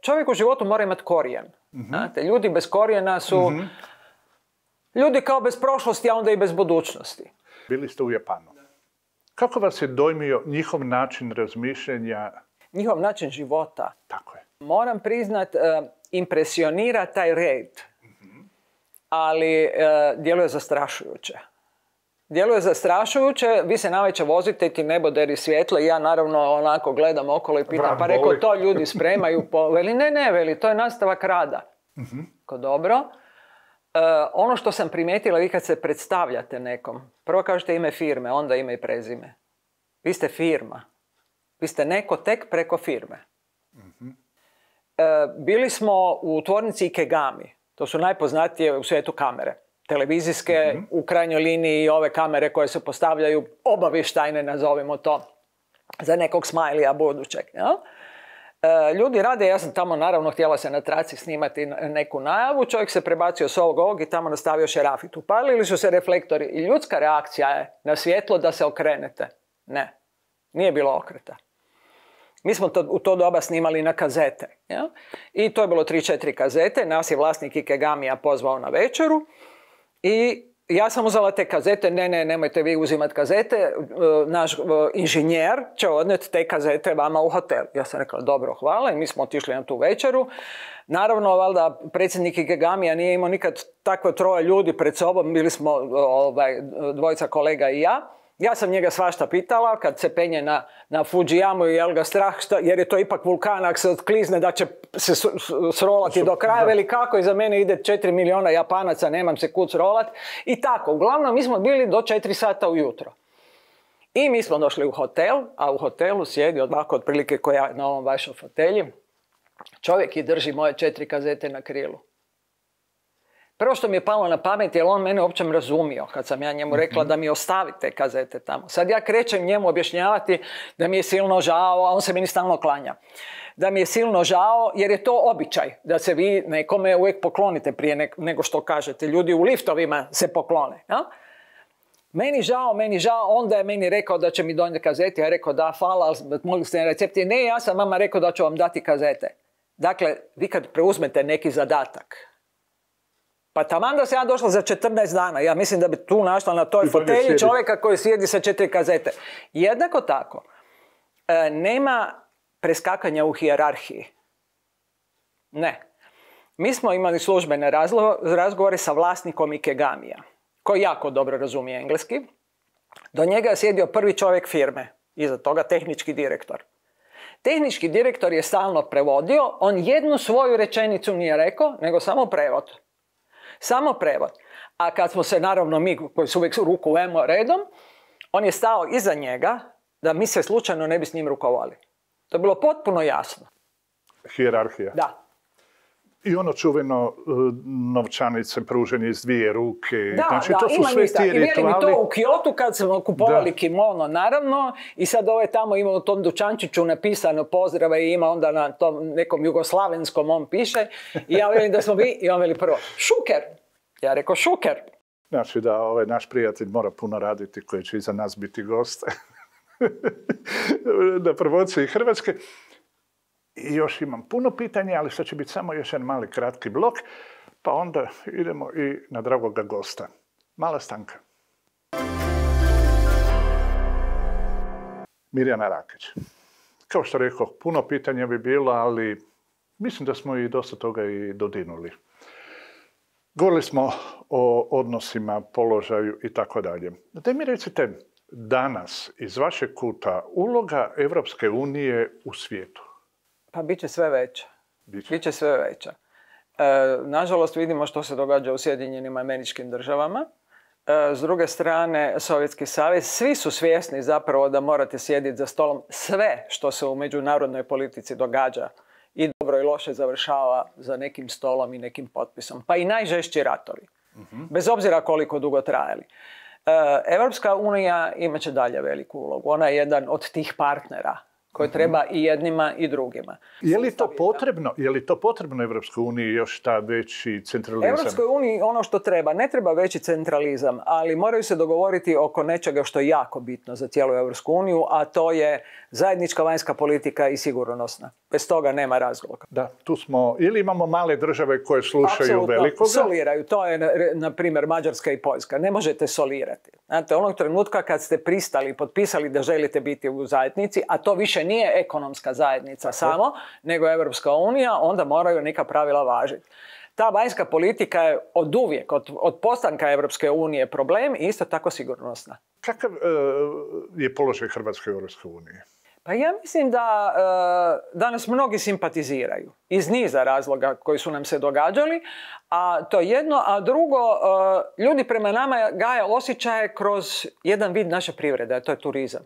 čovjek u životu mora imati korijen. Znate, ljudi bez korijena su... Ljudi kao bez prošlosti, a onda i bez budućnosti. Bili ste u Japanu. Kako vas je dojmio njihov način razmišljanja? Njihov način života. Tako je. Moram priznat, impresionira taj red. Ali djeluje zastrašujuće. Djeluje zastrašujuće, vi se navečer vozite, ti nebo deri svjetlo i ja naravno onako gledam okolo i pitam, pa rekao to ljudi spremaju, veli ne, veli to je nastavak rada. Ko dobro. Ono što sam primijetila, vi kad se predstavljate nekom, prvo kažete ime firme, onda ime i prezime. Vi ste firma. Vi ste neko tek preko firme. Bili smo u tvornici Ikegami. To su najpoznatije u svijetu kamere. Televizijske, u krajnjoj liniji ove kamere koje se postavljaju obavještajne, nazovimo to, za nekog smajlija budućeg. Ja? Ljudi rade, ja sam tamo naravno htjela se na traci snimati neku najavu, čovjek se prebacio s ovog i tamo nastavio šerafit. Upalili su se reflektori i ljudska reakcija je na svjetlo da se okrenete. Ne, nije bilo okreta. Mi smo u to doba snimali na kazete. Ja? I to je bilo 3-4 kazete. Nas je vlasnik Ikegamija pozvao na večeru. I ja sam uzela te kazete. Ne, nemojte vi uzimati kazete. Naš inženjer će odneti te kazete vama u hotel. Ja sam rekla, dobro, hvala. I mi smo otišli na tu večeru. Naravno, valjda, predsjednik Ikegamija nije imao nikad takvo troje ljudi pred sobom. Bili smo dvojica kolega i ja. Ja sam njega svašta pitala, kad se penje na Fujiyamu i jel ga strah, jer je to ipak vulkan, ako se otklizne da će se srolati do kraja, veli kako, iza mene ide 4 milijuna Japanaca, nemam se kud srolat. I tako, uglavnom mi smo bili do 4 sata ujutro. I mi smo došli u hotel, a u hotelu sjedi ovako otprilike ko ja na ovom vašom fotelji. Čovjek i drži moje 4 kazete na krilu. Prvo što mi je palo na pamet je on mene uopće razumio kad sam ja njemu rekla da mi ostavi te kazete tamo. Sad ja krećem njemu objašnjavati da mi je silno žao, a on se meni stalno klanja. Da mi je silno žao jer je to običaj da se vi nekome uvijek poklonite prije nego što kažete. Ljudi u liftovima se poklone. Ja? Meni žao, onda je meni rekao da će mi donijeti kazete. Ja rekao da, hvala, mogli ste na recepti. Ne, ja sam vama rekao da ću vam dati kazete. Dakle, vi kad preuzmete neki zadatak, pa taman da se ja došla za 14 dana, ja mislim da bi tu našla na toj fotelji čovjeka koji sjedi sa 4 kazete. Jednako tako, nema preskakanja u hijerarhiji. Ne. Mi smo imali službene razgovore sa vlasnikom Ikegamija, koji jako dobro razumije engleski. Do njega je sjedio prvi čovjek firme, iza toga tehnički direktor. Tehnički direktor je stalno prevodio, on jednu svoju rečenicu nije rekao, nego samo prevod. Samo prevod. A kad smo se, naravno, mi koji su uvijek ruku vemo redom, on je stao iza njega da mi se slučajno ne bi s njim rukovali. To je bilo potpuno jasno. Hijerarhija. Da. I ono čuveno novčanice pruženje iz 2 ruke. Da, znači, da, to su sve ti rituali. I mi to u Kyotu kad smo kupovali kimono, naravno, i sad tamo ima u tom dućančiću napisano pozdrava i ima onda na tom nekom jugoslavenskom on piše. I ja velim da smo mi, i on veli prvo, Šuker. Ja rekao Šuker. Znači da naš prijatelj mora puno raditi koji će iza nas biti gost na promociji Hrvatske. I još imam puno pitanja, ali sad će biti samo još jedan mali kratki blok, pa onda idemo i na dragoga gosta. Mala stanka. Mirjana Rakić. Kao što rekao, puno pitanja bi bilo, ali mislim da smo i dosta toga i dodirnuli. Govorili smo o odnosima, položaju i tako dalje. Daj mi recite danas iz vašeg kuta uloga Evropske unije u svijetu. Pa bit će sve veća. Biće sve veća. Nažalost vidimo što se događa u Sjedinjenim Američkim Državama. S druge strane, Sovjetski savez, svi su svjesni zapravo da morate sjediti za stolom. Sve što se u međunarodnoj politici događa i dobro i loše završava za nekim stolom i nekim potpisom. Pa i najžešći ratovi. Bez obzira koliko dugo trajali. Evropska unija imat će dalje veliku ulogu. Ona je jedan od tih partnera koje treba i jednima i drugima. Je li to potrebno Evropskoj uniji još ta veći centralizam? Evropskoj uniji ono što treba, ne treba veći centralizam, ali moraju se dogovoriti oko nečega što je jako bitno za cijelu Evropsku uniju, a to je zajednička vanjska politika i sigurnosna. Bez toga nema razloga. Da, tu smo, ili imamo male države koje slušaju velikoga? Apsolutno, soliraju. To je, na primjer, Mađarska i Poljska. Ne možete solirati. Znate, onog trenutka kad ste pristali, potpisali da želite biti u zajednici, a to više nije ekonomska zajednica samo, nego Evropska unija, onda moraju neka pravila važiti. Ta vanjska politika je od uvijek, od postanka Evropske unije problem i isto tako sigurnosna. Kakav je položaj Hrvatske u Evropskoj uniji? Pa ja mislim da danas mnogi simpatiziraju iz niza razloga koji su nam se događali, a to je jedno, a drugo, ljudi prema nama gaje osjećaje kroz jedan vid naše privrede, a to je turizam.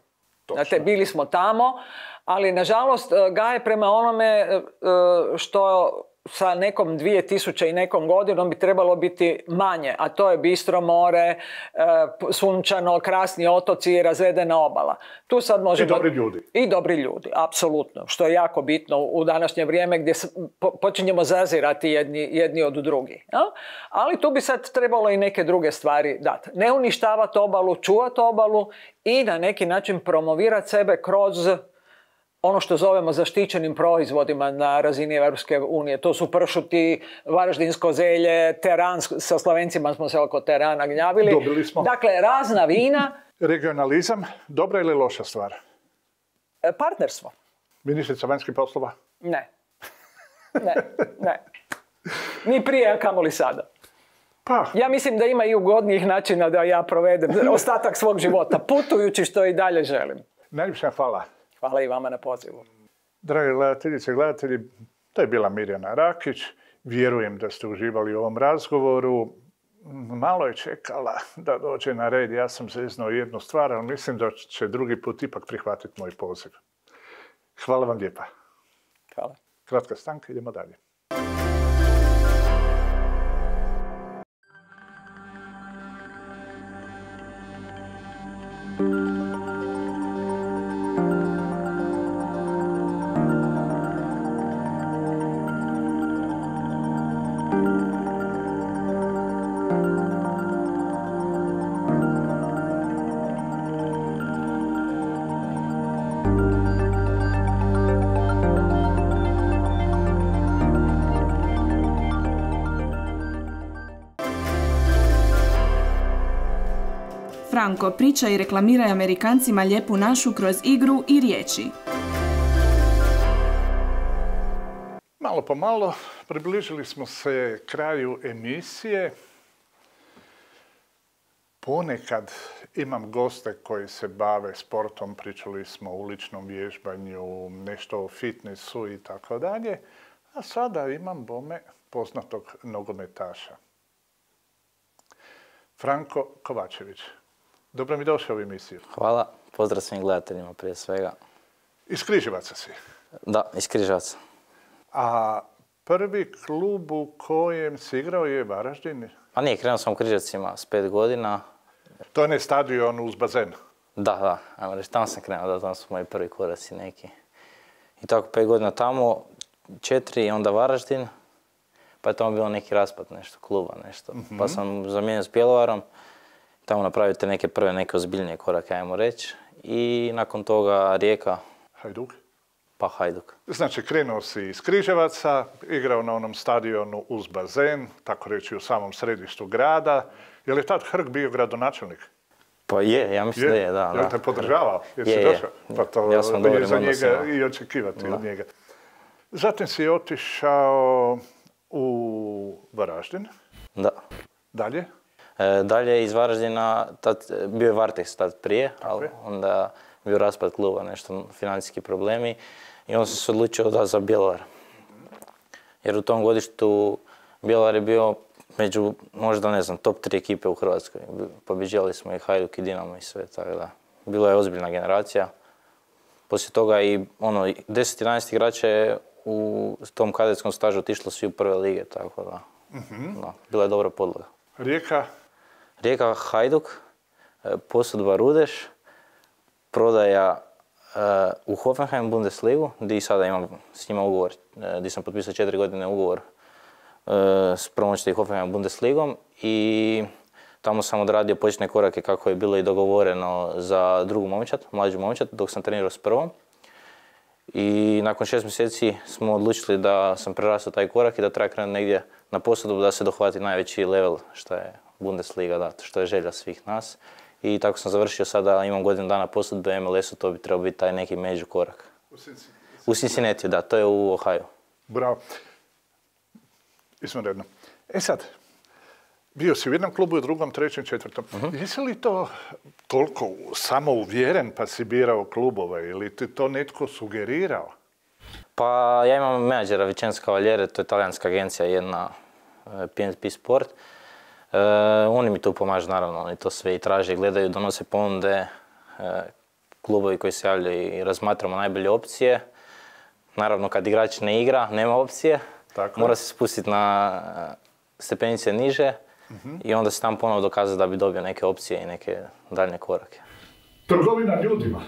Znate, bili smo tamo, ali nažalost gaje prema onome što sa nekom 2000 i nekom godinom bi trebalo biti manje, a to je bistro more, sunčano, krasni otoci, razvedena obala. Tu sad možemo... I dobri ljudi. I dobri ljudi, apsolutno, što je jako bitno u današnje vrijeme gdje počinjemo zazirati jedni od drugih. Ja? Ali tu bi sad trebalo i neke druge stvari dati. Ne uništavati obalu, čuvati obalu i na neki način promovirati sebe kroz ono što zovemo zaštićenim proizvodima na razini Europske unije. To su pršuti, varaždinsko zelje, teran, sa Slovencima smo se oko terana gnjavili. Dobili smo. Dakle, razna vina. Regionalizam, dobra ili loša stvar? Partnerstvo. Ministrica vanjskih poslova? Ne. Ni prije, a kamoli sada. Pa. Ja mislim da ima i ugodnijih načina da ja provedem ostatak svog života, putujući što i dalje želim. Najljepša hvala. Hvala i vama na pozivu. Dragi gledateljice i gledatelji, to je bila Mirjana Rakić. Vjerujem da ste uživali u ovom razgovoru. Malo je čekala da dođe na red. Ja sam zeznao jednu stvar, ali mislim da će drugi put ipak prihvatiti moj poziv. Hvala vam lijepa. Hvala. Kratka stanka, idemo dalje. Franko priča i reklamira Amerikancima lijepu našu kroz igru i riječi. Malo po malo približili smo se kraju emisije. Ponekad imam goste koji se bave sportom, pričali smo o uličnom vježbanju, nešto o fitnessu i tako dalje. A sada imam bome poznatog nogometaša. Franko Kovačević. Dobro mi došao u emisiju. Hvala. Pozdrav svim gledateljima prije svega. Iz Križevaca si? Da, iz Križevaca. A prvi klub u kojem si igrao je Varaždin? Pa nije, krenuo sam u Križevcima s 5 godina. To je ne stadion uz bazen? Da, ajmo reći, tamo sam krenuo, tamo su moji prvi koraci neki. I tako 5 godina tamo, 4 i onda Varaždin. Pa je tamo bilo neki raspad nešto, kluba nešto. Pa sam zamijenio s Bjelovarom. Tamo napravite neke ozbiljnije korake, ajmo reći. I nakon toga Rijeka. Hajduk? Pa Hajduk. Znači, krenuo si iz Križevaca, igrao na onom stadionu uz bazen, tako reći u samom središtu grada. Je li tad Hrg bio gradonačelnik? Pa je, ja mislim da je, da. Je li te podržavao? Jesi došao? Pa to ja sam je za njega i očekivati od njega. Zatim si otišao u Varaždin. Da. Dalje? Dalje iz Varaždina, bio je Varteks tad prije, ali onda bio raspad kluba, nešto financijski problemi i onda sam se odlučio da za Bjelovar. Jer u tom godištu Bjelovar je bio među, možda ne znam, top 3 ekipe u Hrvatskoj. Pobjeđivali smo i Hajduk i Dinamo i sve, tako da. Bila je ozbiljna generacija. Poslije toga i 10-11 igrača je u tom kadetskom stažu otišlo svi u prve lige, tako da. Bila je dobra podloga. Rijeka, Hajduk, Posudba Rudeš, prodaja u Hoffenheim Bundesligu, gdje sada imam s njima ugovor, gdje sam potpisao 4 godine ugovor s promoćnim Hoffenheim Bundesligom i tamo sam odradio početne korake kako je bilo i dogovoreno za drugu momčad, mlađu momčad, dok sam trenirao s prvom. I nakon 6 mjeseci smo odlučili da sam prerastao taj korak i da treba krenuti negdje na posudbu da se dohvati najveći level što je Bundesliga, da, što je želja svih nas. I tako sam završio sada, imam godinu dana posudbe MLS-u, to bi trebao biti taj neki među korak. U Cincinnati, da, to je u Ohio. Bravo. Izvanredno. E sad, bio si u jednom klubu, u drugom, trećem, četvrtom. Jesi li to toliko samouvjeren pa si birao klubove ili ti to netko sugerirao? Pa ja imam menadžera Vicenza Cavaliere, to je talijanska agencija, jedna PNP Sport. Oni mi tu pomažu, naravno, oni to sve i traže, gledaju, donose ponude, klubovi koji se javljaju i razmatramo najbolje opcije. Naravno, kad igrač ne igra, nema opcije, mora se spustiti na stepenice niže i onda se tam ponovo dokazati da bi dobio neke opcije i neke daljnje korake. Trgovina ljudima.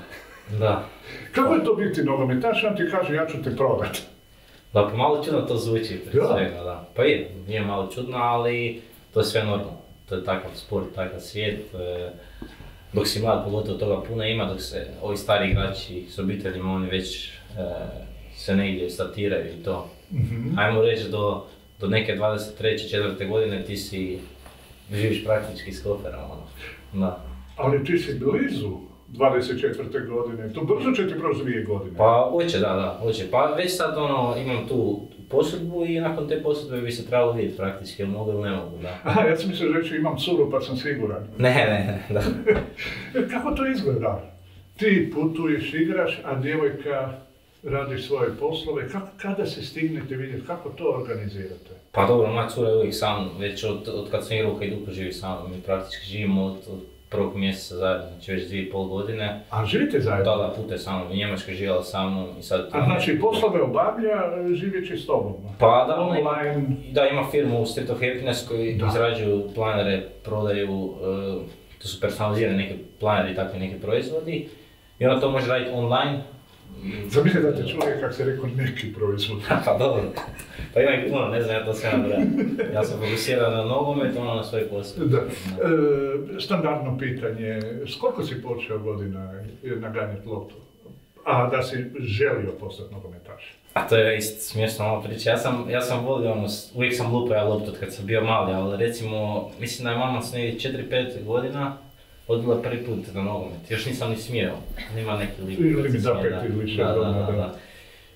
Da. Kako je to biti nogometaš, on ti kaže ja ću te prodati? Da, pa malo čudno to zvuči prije svega, da. Pa nije malo čudno, ali to je sve normalno. To je takav sport, takav svijet. Dok si mlad, pogotovo toga puno ima, dok se ovi stari igrači s obiteljima, oni već se negdje statiraju i to. Ajmo reći do neke 23. 4. godine ti živiš praktički s koferom, da. Ali ti si blizu 24. godine, to brzo će ti proći 2 godine. Pa hoće, da, hoće. Pa već sad imam tu posudbu i nakon te posudbe bi se trebalo vidjeti praktički, jel mogu ili ne mogu, da. Aha, ja sam mislio reći imam curu pa sam siguran. Ne, da. Kako to izgleda? Ti putuješ, igraš, a djevojka radi svoje poslove. Kada se stignete vidjeti, kako to organizirate? Pa dobro, moja cura je uvijek sa mnom, već od kad sam igrao Hajduku živi sa mnom. Mi praktički živimo od prvog mjeseca zajedno, znači već 2,5 godine. A živite zajedno? Da, putuje sa mnom. U Njemačkoj živjela sa mnom i sad... A znači poslove obavlja živeći s tobom? Pa da, online... Da, ima firmu Street of Happiness koji izrađuju planere, prodaju, to su personalizirane neke planere i takvi neki proizvodi. I ona to može raditi online. Zamislite da te čuje kako se rekao neki proizvod. Pa dobro, pa ima i puno, ne znam ja to sve nabrajam. Ja sam fokusiran na nogomet, ona na svoj posao. Da. Standardno pitanje, s koliko si počeo godina naganjati loptu? A da si želio postati nogometaš? A to je isto smiješno malo priča. Ja sam volio uvijek sam lupao ja loptu od kad sam bio mali, ali recimo, mislim da je mama s negdje 4-5 godina odbila prvi put na nogomet. Još nisam ni smio, nima neki limit. Limit za 5 ili više godina, da.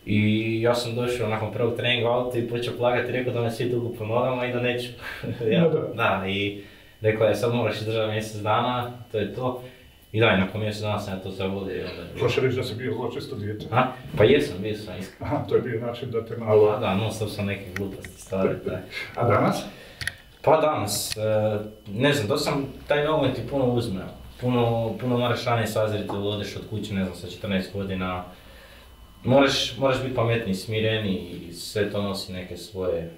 I ja sam došao nakon prvog treninga u auto i počeo plakati i rekao da me svi tuku po nogama i da neću. Da, i rekao je sad moraš izdržati mjesec dana, to je to. I da, i nakon mjesec dana sam ja to sve vodio. Hoće reći da si bio zločesto dijete? Pa jesam, bio sam iskreno. Aha, to je bio način da te malo... Da, non stop sam neke gluposti stvari. A danas? Pa danas, ne znam, to sam taj nogomet ti puno uzmeo. Puno moraš ranije sazriti, odeš od kuće, ne znam, sa 14 godina. Moraš biti pametniji, smireni i sve to nosi neke svoje...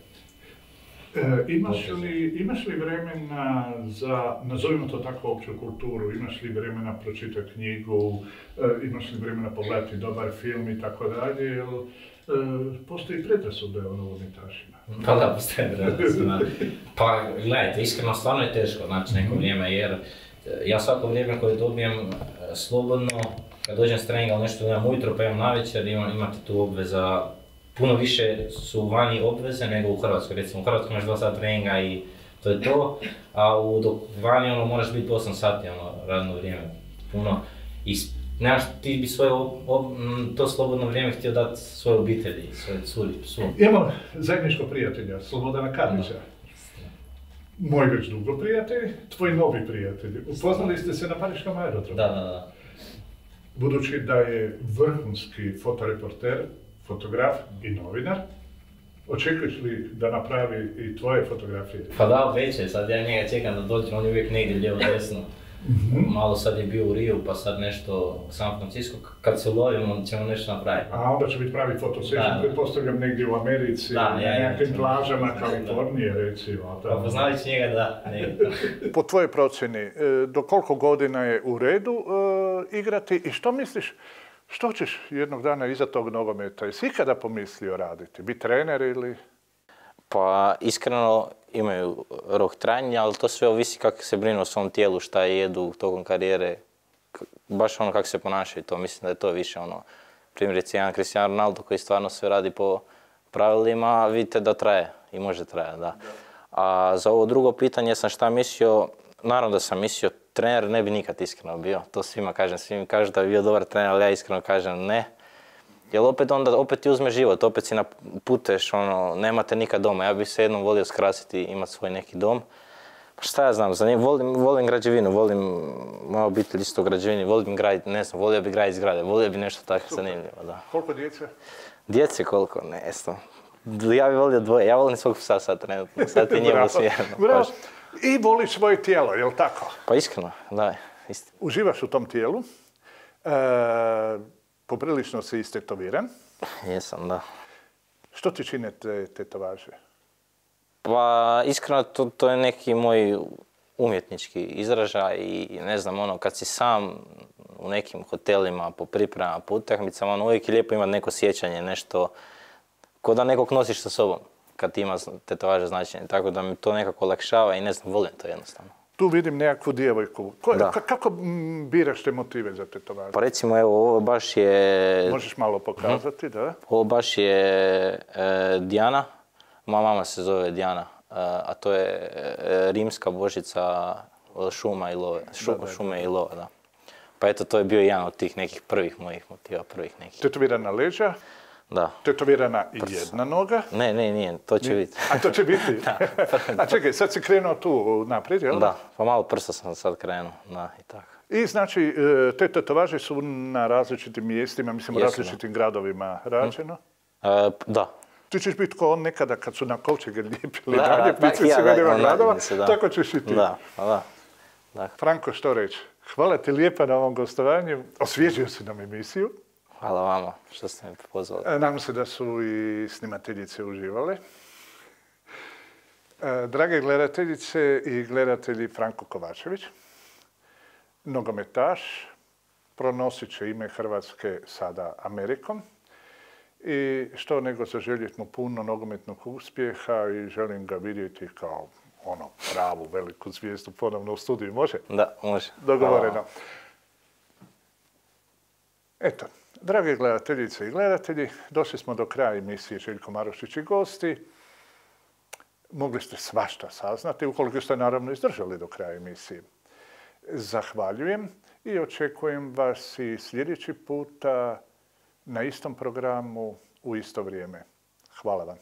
Imaš li vremena za, nazovimo to tako, opću kulturu, imaš li vremena pročitati knjigu, imaš li vremena pogledati dobar film i tako dalje, jer postoji predrasude o nogometašima? Pa da, postoji predrasude. Pa gledajte, iskreno stvarno je teško naći neko vrijeme, jer ja svako vrijeme koje dobijem slobodno, kad dođem s treninga ili nešto nemam ujutro pa imam navečer, imate tu obveza. Puno više su vani obveze nego u Hrvatskoj. Recimo u Hrvatskoj imaš 2 sata treninga i to je to, a dok vani moraš biti 8 sati radno vrijeme. Puno. I nemaš, ti bi svoje to slobodno vrijeme htio dati svojoj obitelji, svojoj curi, psu. Imamo zajedničkog prijatelja, Slobodana Karlića. Moj već dugo prijatelj, tvoj novi prijatelj. Upoznali ste se na Pariškom aerodromu. Da. Budući da je vrhunski fotoreporter, fotograf i novinar, očekuješ li da napravi i tvoje fotografije? Pa da, već je, sad ja njega čekam da dođe, on je uvijek negdje lijevo desno. Malo sad je bio u Riju, pa sad nešto u San Francisco, kad se ulovimo ćemo nešto napraviti. A onda će biti pravi fotosession, pretpostavljam negdje u Americi, na nekim plažama Kalifornije recimo. Pa poznajući njega da, Po tvojoj procjeni, do koliko godina je u redu igrati i što misliš, Što ćeš jednog dana iza tog nogometa? Jesi ikada pomislio raditi? Biti trener ili... Pa iskreno imaju rok trajanja, ali to sve ovisi kako se brinu o svom tijelu, šta jedu tokom karijere, baš ono kako se ponašaju. To mislim da je to više ono, primjerice jedan Cristiano Ronaldo koji stvarno sve radi po pravilima, vidite da traje i može trajati, da. A za ovo drugo pitanje sam šta mislio, naravno da sam mislio, trener ne bi nikad iskreno bio, to svima kažem, svi mi kažu da bi bio dobar trener, ali ja iskreno kažem ne. Jer opet ti uzme život, opet si puteš, ono, nemate nikad doma. Ja bih se jednom volio skrasiti, imati svoj neki dom. Pa šta ja znam, volim građevinu, volim moja obitelj isto građevini, volim graditi, ne znam, volio bi graditi zgrade, volio bi nešto tako zanimljivo, da. Koliko djece? Djece koliko, ne znam. Ja bih volio dvoje, ja volim svog psa sad trenutno, sad ti njemu svijedno. Bravo. I voliš svoje tijelo, je li tako? Pa iskreno, da, istina. Uživaš u tom tijelu. Poprilično si istetoviran. Jesam, da. Što ti čine te tetovaže? Pa iskreno to je neki moj umjetnički izražaj i ne znam, ono, kad si sam u nekim hotelima po pripremama, po utakmicama, ono, uvijek je lijepo imati neko sjećanje, nešto, ko da nekog nosiš sa sobom kad ima tetovaže značenje, tako da mi to nekako olakšava i ne znam, volim to jednostavno. Tu vidim nekakvu djevojku. Kako biraš te motive za tetovaže? Pa recimo, evo, ovo baš je... Možeš malo pokazati, da? Ovo baš je Dijana. Moja mama se zove Dijana, a to je rimska božica šuma i love. Šume i lova, da. Pa eto, to je bio jedan od tih nekih prvih mojih motiva, prvih nekih. Tetovirana leđa? Da. Tetovirana i jedna noga? Ne, nije, to će biti. A to će biti? A čekaj, sad si krenuo tu naprijed, jel? Da, pa malo prsa sam sad krenuo, da, i tako. I znači, te tetovaže su na različitim mjestima, mislim u različitim gradovima rađeno? Da. Ti ćeš biti ko on nekada kad su na kovčege lijepili dalje, pici gradova, tako ćeš i ti. Da. Franko, što reći? Hvala ti lijepa na ovom gostovanju, osvježio si nam emisiju. Hvala vama što ste me pozvali. Nadam se da su i snimateljice uživale. Drage gledateljice i gledatelji, Franko Kovačević, nogometaš, pronosit će ime Hrvatske sada Amerikom. I što nego zaželjeti mu puno nogometnog uspjeha i želim ga vidjeti kao ono pravu veliku zvijezdu ponovno u studiju. Može? Da, može. Dogovoreno. Eto, drage gledateljice i gledatelji, došli smo do kraja emisije Željko Marušić i gosti. Mogli ste svašta saznati, ukoliko ste naravno izdržali do kraja emisije. Zahvaljujem i očekujem vas i sljedeći puta na istom programu u isto vrijeme. Hvala vam.